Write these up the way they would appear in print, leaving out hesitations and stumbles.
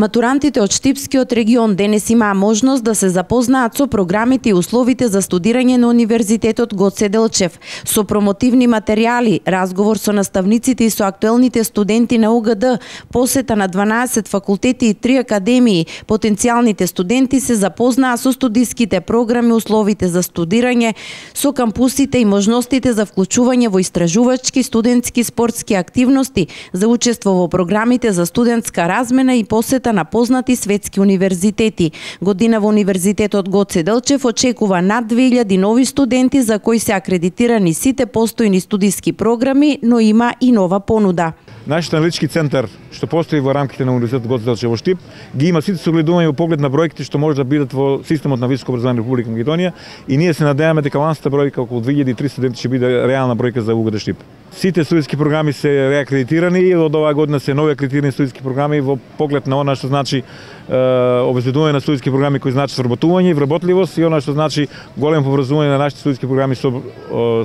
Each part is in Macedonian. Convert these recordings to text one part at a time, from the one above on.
Матурантите од Штипскиот регион денес имаа можност да се запознаат со програмите и условите за студирање на Универзитетот Гоце Делчев, со промотивни материјали, разговор со наставниците и со актуелните студенти на УГД, посета на 12 факултети и 3 академии. Потенцијалните студенти се запознаа со студиските програми, условите за студирање, со кампусите и можностите за вклучување во истражувачки, студентски, спортски активности, за учество во програмите за студентска размена и посета на познати светски универзитети. Година во Универзитетот Гоце Делчев очекува над 2000 нови студенти за кои се акредитирани сите постојни студиски програми, но има и нова понуда. Нашиот аналитички центар, што постои во рамките на Универзитетот Гоце Делчев во Штип, ги има сите согледувања во поглед на бројките што може да бидат во системот на високо образование Република Македонија, и ние се надеваме дека лансата бројка околу 2300 студенти ќе биде реална бројка за УГД Штип. Сите студиски програми се реакредитирани и од оваа година се нови акредитирани студиски програми во поглед на она што значи обезбедување на студиски програми кои значи сработување и вработливост, и она што значи големо образување на нашите студиски програми со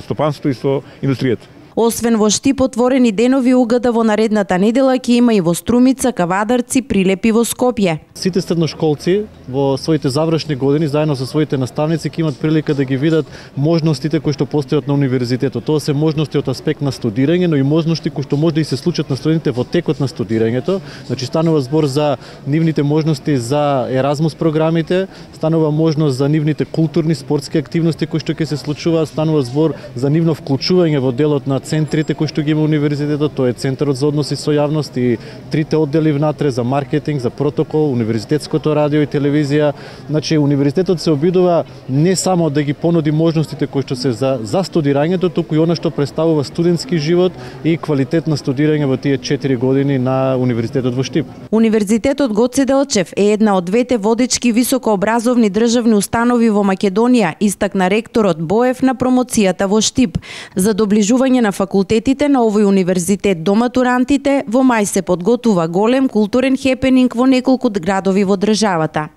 стопанството и со индустријата. Освен во Штип, отворени денови УГД во наредната недела ќе има и во Струмица, Кавадарци, Прилеп и во Скопје. Сите средношколци во своите завршни години заедно со своите наставници ќе имат прилика да ги видат можностите кои што постојат на универзитетот. Тоа се можности од аспект на студирање, но и можности кои што може да и се случат на студентите во текот на студирањето. Значи станува збор за нивните можности за Еразмус програмите, станува можност за нивните културни, спортски активности кои што ќе се случуваат, станува збор за нивно вклучување во делот на центрите кои што ги има универзитетот, тоа е Центарот за односи со јавност и 3 оддели внатре за маркетинг, за протокол, универзитетското радио и телевизија. Значи универзитетот се обидува не само да ги понуди можностите кои што се за студирањето, туку и она што представува студентски живот и квалитет на студирање во тие 4 години на Универзитетот во Штип. Универзитетот Гоце Делчев е една од двете водечки високообразовни државни установи во Македонија, истакна ректорот Боев на промоцијата во Штип. За доближување на факултетите на овој универзитет до матурантите, во мај се подготува голем културен хепенинг во неколку градови во државата.